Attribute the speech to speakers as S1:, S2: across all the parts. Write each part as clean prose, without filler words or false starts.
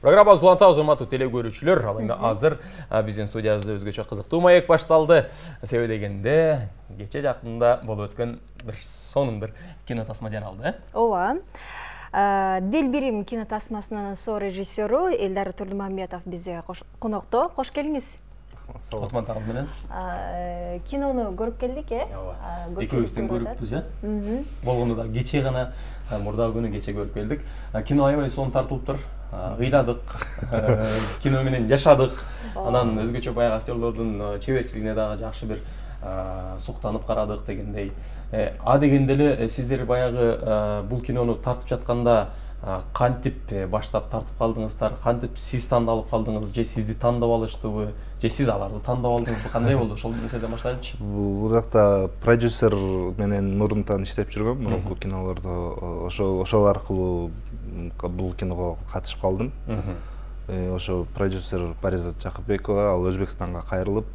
S1: Программабызды улантабыз, урматтуу теле көрүүчүлөр. Ал эми азыр биздин студиябызда өзгөчө кызыктуу маек башталды. Себеби дегенде кече жакында болуп өткөн сонун бир кино тасма жаралды.
S2: Ооба. Дил бирим кино тасмасынын со-режиссеру Элдар Турдумамбетов бизде конокто. Кош келиңиз.
S1: Отман тагыз менен.
S2: Кинону көрүп келдик,
S1: Экөөбүздөн көрүппүз, болгондо да кече гана, мурдагы күнү кече көрүп келдик. Кино аябай сонун тартылыптыр. Ыйладык, кино менен жашадык. Анан өзгөчө баягы актерлордун чеберчилигине дагы жакшы бир суктанып карадык дегендей. Дегенде эле сиздер баягы бул кинону тартып жатканда кантип баштап тартып калдыңыздар, кантип сиз тандалып калдыңыз, же сизди тандап алыштыбы, же сиз аларды тандап алдыңызбы, кандай болду? Ошол нерседен баштайлычы.
S3: Бул жакта продюсер менен мурунтан иштеп жүргөм, мурунку кинолордо ошол аркылуу бул киного катышып калдым. Ошо продюсер Паризат Жакыпбекова, ал Өзбекстанга кайрылып,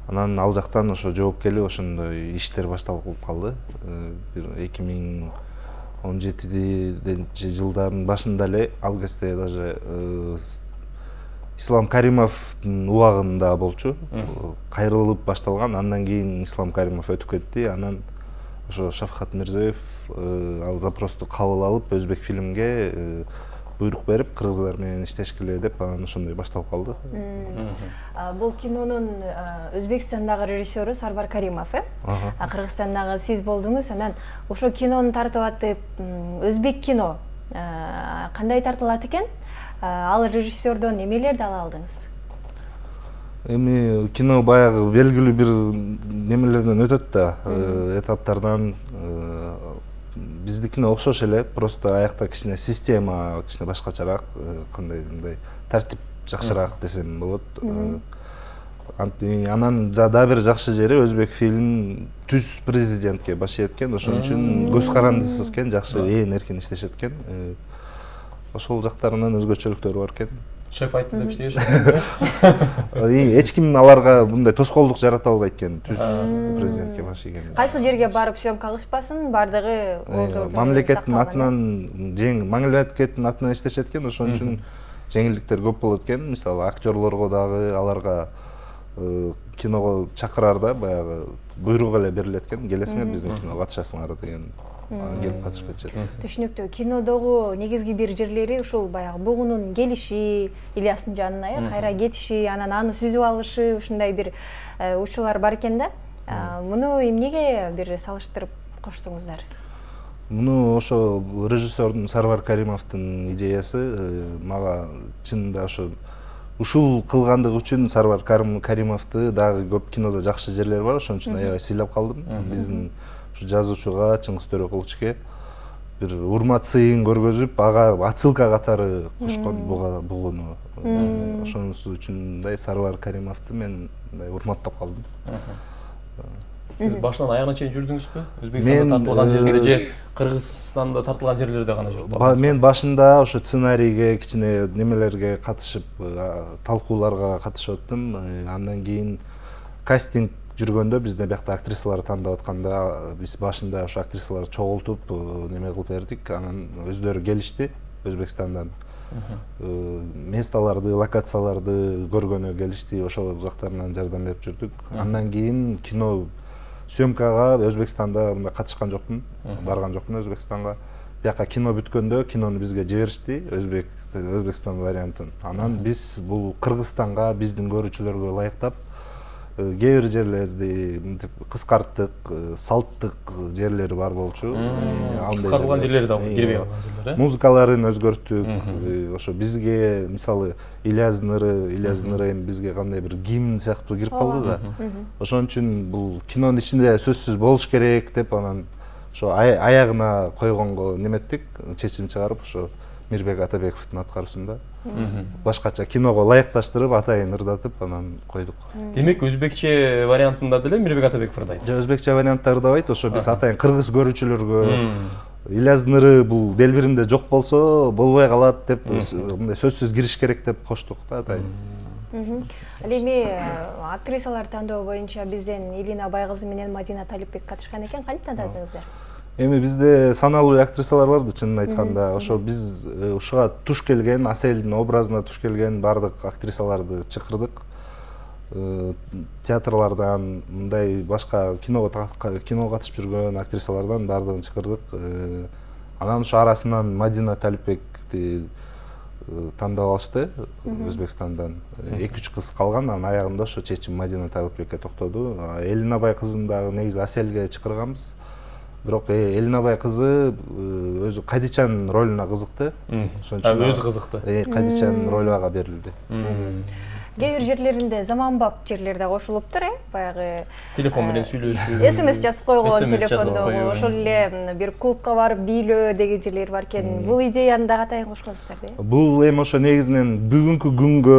S3: анан ал жактан ошо жооп келип ошондой иштер башталып калды. Бир 2017 жылдардын башында эле ал кезде даже Ислам Каримовдун убагында болчу. Кайрылып башталган, андан кийин Ислам Каримов өтүп кетти. Анан ошо Шавкат Мирзиёев ал запросту кабыл алып, өзбек фильмге буйрук берип, кыргыздар менен иштешкиле деп, анан ошондой башталып калды.
S2: Бул кинонун Өзбекстандагы режиссеру Сарвар Каримов, Кыргызстандагы сиз болдуңуз. Анан ошо кинону тартып атып, өзбек кино кандай тартылат экен? Ал режиссердон эмелерди ала алдыңыз?
S3: Эми кино баягы белгилүү бир немелерден өтөт да, этаптардан. Биздикине окшош эле, просто аякта кичине система кичине башкачараак, кандай мындай тартип жакшыраак десем болот. Анан дагы бир жакшы жери өзбек фильм түз президентке баш ийеткен, ошон үчүн көз карандысыз экен, жакшы ээн эркин иштешет экен. Ошол жактарынан өзгөчөлүктөрү бар экен.
S1: Шеф айтты деп иштейбиш.
S3: Эч ким аларга мындай тоскоолдук жарата албайт экен, түз президентке баш ийген.
S2: Кайсы жерге барып съемка кылышпасын, бардыгы
S3: мамлекеттин атынан иштешет экен, ошон үчүн жеңилдиктер көп болот экен. Мисалы, актерлорго дагы аларга киного чакыраарда баягы буйрук эле берилет экен, келесиңер биздин киного катышасыңар деген. Келип катышып кетишет.
S2: Түшүнүктүү. Кинодогу негизги бир жерлери ушул баягы бугунун келиши, Ильястын жанына кайра кетиши, анан аны сүзүп алышы, ушундай бир учурлар бар экен да. Муну эмнеге бир салыштырып коштуңуздар?
S3: Муну ошо режиссердун Сарвар Каримовдун идеясы. Мага чынында ошо ушул кылгандыгы үчүн Сарвар Каримовду дагы көп кинодо жакшы жерлери бар, ошон үчүн аябай сыйлап калдым. Биздин жазуучуга Чыңгыз Төрөкулчуге бир урмат сыйын көргөзүп, ага отсылка катары кошкон бугуну. Ошонусу үчүн мындай Сарвар Каримовду мен урматтап калдым.
S1: Сиз башынан аягына чейин жүрдүңүзбү? Өзбекстанда тартылган жерлерде же Кыргызстанда тартылган жерлерде гана жүрдүңүз? Мен
S3: башында ошо сценарийге, кичине немелерге катышып, талкууларга катышып өттүм. Андан кийин кастинг жүргөндө, бизде биякта актрисалар тандап атканда, биз башында ошо актрисаларды чогултуп, неме кылып бердик. Анан өздөрү келишти Өзбекстандан. Месталарды, локацияларды көргөнү келишти, ошол жактарынан жардам берип жүрдүк. Андан кийин кино съемкага Өзбекстанда катышкан жокмун, барган жокмун Өзбекстанга. Бияка кино бүткөндө кинону бизге жиберишти, Өзбекстан вариантын. Анан биз бул Кыргызстанга, биздин көрүүчүлөргө ылайыктап кээ бир жерлерди кыскарттык, салттык жерлери бар болчу.
S1: Кыскартылган жерлери да кирбей калган жерлер,
S3: музыкаларын өзгөрттүк. Ошо бизге мисалы Ильяздын ыры бизге кандай бир гимн сыяктуу кирип калды да. Ошон үчүн бул кинонун ичинде сөзсүз болуш керек деп, анан ошо аягына койгонго неметтик, чечим чыгарып, ошо Мирбек Атабековдун аткаруусунда башкача киного ылайыкташтырып, атайын ырдатып, анан койдук.
S1: Демек, өзбекче вариантында деле Мирбек Атабеков ырдайт?
S3: Жок, өзбекче вариантта ырдабайт, ошо биз атайын кыргыз көрүүчүлөргө Ильяздын ыры бул Делбиримде жок болсо болбой калат деп, мындай сөзсүз кириш керек деп коштук да атайын.
S2: Ал эми актрисалар тандоо боюнча бизден Илина Байгызы менен Мадина Талипбек катышкан экен, кантип тандадыңыздар?
S3: Эми бизде саналуу эле актрисалар бар да, чынын айтканда. Ошо биз ушуга туш келген, Аселдин образына туш келген бардык актрисаларды чакырдык. Театрлардан, мындай башка киного катышып жүргөн актрисалардан бардыгын чакырдык. Анан ошо арасынан Мадина Талипбекти тандап алышты Өзбекстандан. 2-3 кыз калган, анын аягында ошо чечим Мадина Талипбекке токтоду. Элинабай кызын дагы негизи Аселге чакырганбыз. Бирок Элинабай кызы өзү Кадичанын ролуна кызыкты.
S1: Ошон үчүн өзү кызыкты.
S3: Кадичанын ролу ага берилди.
S2: Кээ бир жерлеринде заманбап жерлерде кошулуптур, баягы
S1: телефон менен сүйлөшүү,
S2: SMS жазып койгон телефондогу, ошол эле бир клубка барып бийлөө деген жерлер бар экен. Бул идеяны дагы атайын кошконсуздар да?
S3: Бул эми ошо негизинен бүгүнкү күнгө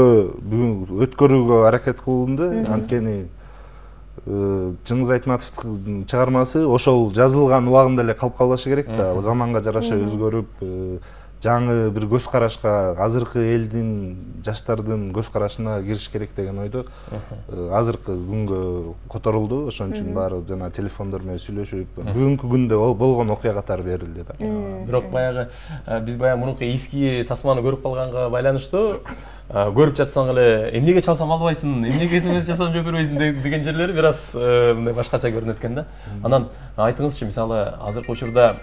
S3: өткөрүүгө аракет кылынды. Анткени Чыңгыз Айтматовдун чыгармасы ошол жазылган убагында эле калып калбашы керек да. Заманга жараша өзгөрүп, жаңы бир көз карашка, азыркы элдин, жаштардын көз карашына кириш керек деген ойдо азыркы күнгө которулду. Ошон үчүн баары жана телефондор менен сүйлөшүп, бүгүнкү күндө болгон окуя катары берилди да.
S1: Бирок баягы биз баягы мурунку эски тасманы көрүп калганга байланыштуу көрүп жатсаң эле эмнеге чалсам албайсың, эмнеге SMS жасап жибербейсиң деген жерлери бир аз мындай башкача көрүнөт экен да. Анан айтыңызчы, мисалы азыркы учурда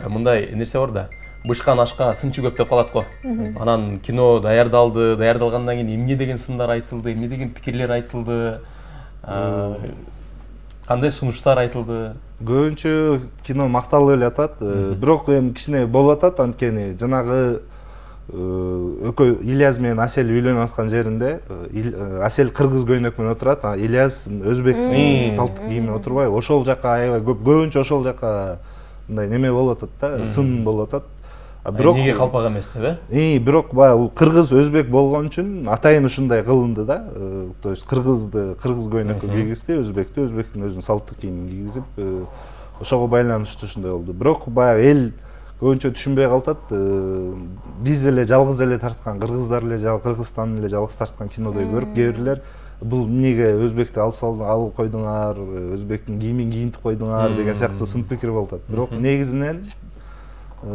S1: мындай нерсе бар да, бышкан ашка сынчы көп деп калат го. Анан кино даярдалды, даярдалгандан кийин эмне деген сындар айтылды, эмне деген пикирлер айтылды, кандай сунуштар айтылды?
S3: Көбүнчө кино макталып эле атат, бирок эми кичине болуп атат, анткени жанагы экөө Ильяс менен Асел үйлөнүп аткан жеринде Асел кыргыз көйнөк менен отурат, Ильяс өзбектин салттык кийимине отурбайбы? Ошол жака аябай көбүнчө ошол жака мындай неме болуп атат да, сын болуп атат.
S1: Бирок эмнеге калпак эмес деп,
S3: бирок баягы кыргыз өзбек болгон үчүн атайын ушундай кылынды да. То есть кыргызды кыргыз көйнөккө кийгизди, өзбекти өзбектин өзүнүн салттык кийимин кийгизип, ошого байланыштуу ушундай болду. Бирок баягы эл көбүнчө түшүнбөй калат. Биз эле жалгыз эле тарткан, кыргыздар эле Кыргызстан эле жалгыз тарткан кинодой көрүп, кээ бирлер бул эмнеге өзбекти алып койдуңар, өзбектин кийимин кийинтип койдуңар деген сыяктуу сын пикир болуп атат. Бирок негизинен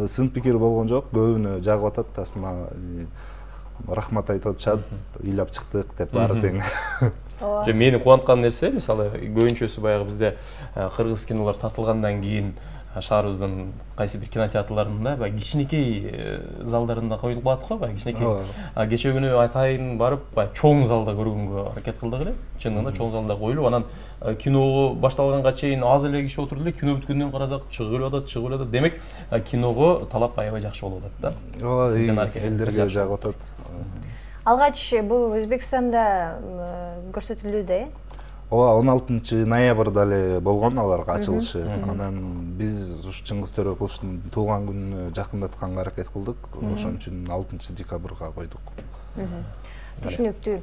S3: сын пикир болгон жок, көбүнө жагып атат, тасма рахмат айтып атышат, ыйлап чыктык деп баары тең.
S1: Же мени кубанткан нерсе, мисалы көбүнчөсү баягы бизде кыргыз кинолор тартылгандан кийин шаарыбыздын кайсы бир кинотеатрларында баягы кичинекей залдарында коюлуп калат го, баягы кичинекей. Кече күнү атайын барып, баягы чоң залда көргөнгө аракет кылдык эле. Чындыгында чоң залда коюлуп, анан кино башталганга чейин аз эле киши отуруп эле, кино бүткөндөн карасак чыгып атат. Демек, киного талап аябай жакшы болуп атат да.
S3: Ооба, элдерге жагып атат.
S2: Алгач бул Өзбекстанда көрсөтүлүүдө,
S3: Ооба, 16-ноябрда эле болгон аларга ачылышы. Анан биз ушу Чыңгыз Төрөкуловдун туулган күнүнө жакындатканга аракет кылдык. Ошон үчүн 6-декабрга койдук.
S2: Түшүнүктүү.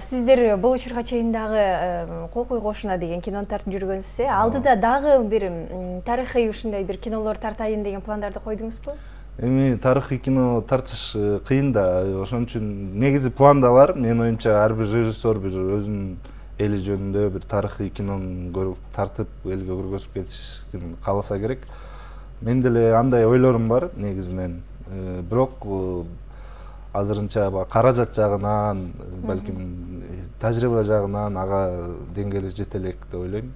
S2: Сиздер бул учурга чейин дагы Кокуй кошуна деген кинону тартып жүргөнсүз. Алдыда дагы бир тарыхый ушундай бир кинолор тартайын деген пландарды койдуңузбу?
S3: Эми тарыхый кино тартыш кыйын да. Ошон үчүн негизи планда бар. Менин оюмча ар бир режиссер бир өзүнүн эли жөнүндө бир тарыхый кинону көрүп, тартып элге көргөзүп кетишин кааласа керек. Мен деле андай ойлорум бар негизинен. Бирок азырынча каражат жагынан, балким тажрыйба жагынан ага деңгээли жете элек деп ойлойм.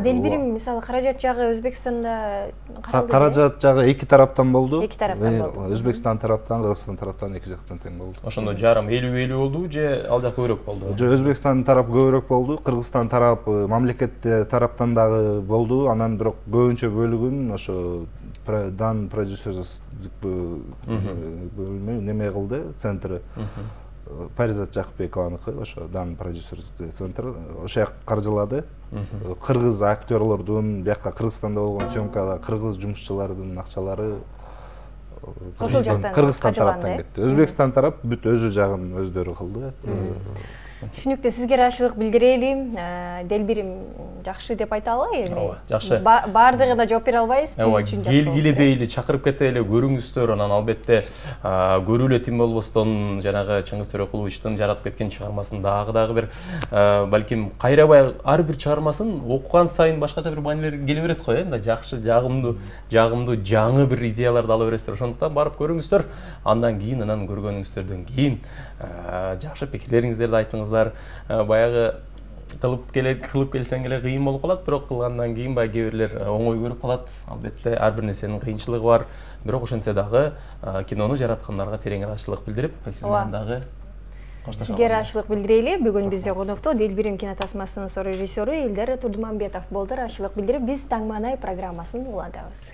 S2: Дел бирим, мисалы, каражат жагы Өзбекстанда каралды?
S3: Каражат жагы эки тараптан болду.
S2: Эки тараптан болду.
S3: Өзбекстан тараптан, Кыргызстан тараптан эки жактан тең болду.
S1: Ошондо жарым 50-50 болду же ал жак көбүрөөк болду?
S3: Же Өзбекстан тарап көбүрөөк болду, Кыргызстан тарап мамлекет тараптан дагы болду. Анан бирок көбүнчө бөлүгүн ошо дан продюсерлик бөлмө неме кылды, центри. Паризат Жакыпбекованыкы, ошо дан продюсер центр, ошо жак каржылады. Кыргыз актерлордун, бияка Кыргызстанда болгон съемкада кыргыз жумушчулардын акчалары Кыргызстан тараптан кетти. Өзбекстан тарап бүт өзү жагын өздөрү кылды.
S2: Түшүнүктүү, сизге ыраазычылык билдирели. Делбирим жакшы деп айта алалы эми.
S1: Ооба, жакшы.
S2: Баардыгына жооп бере албайбыз, биз үчүн жакшы.
S1: Келгиле дейли, чакырып кетели, көрүңүздөр. Анан албетте көрүүлө тим болбостон жанагы Чыңгыз Төрөкуловичтин жаратып кеткен чыгармасын дагы бир балким кайрабай ар бир чыгармасын окуган сайын башкача бир маанилер келе берет го, мындай жакшы, жагымдуу, жаңы бир идеяларды ала бересиздер. Ошондуктан барып көрүңүздөр. Андан кийин, анан көргөнүңүздөрдөн кийин жакшы пикирлериңиздерди айтыңыздар. Баягы кылып келсең эле кыйын болуп калат, бирок кылгандан кийин баягы кээ бирлер оңой көрүп калат. Албетте ар бир нерсенин кыйынчылыгы бар. Бирок ошентсе дагы кинону жараткандарга терең ыраазычылык билдирип, сиз менен дагы коштошобуз.
S2: Сизге ыраазычылык билдирели. Бүгүн бизде конокто Делбирим кинотасмасынын режиссеру Элдар Турдуманбетов болду. Ыраазычылык билдирип, биз Таң маанай программасын улантабыз.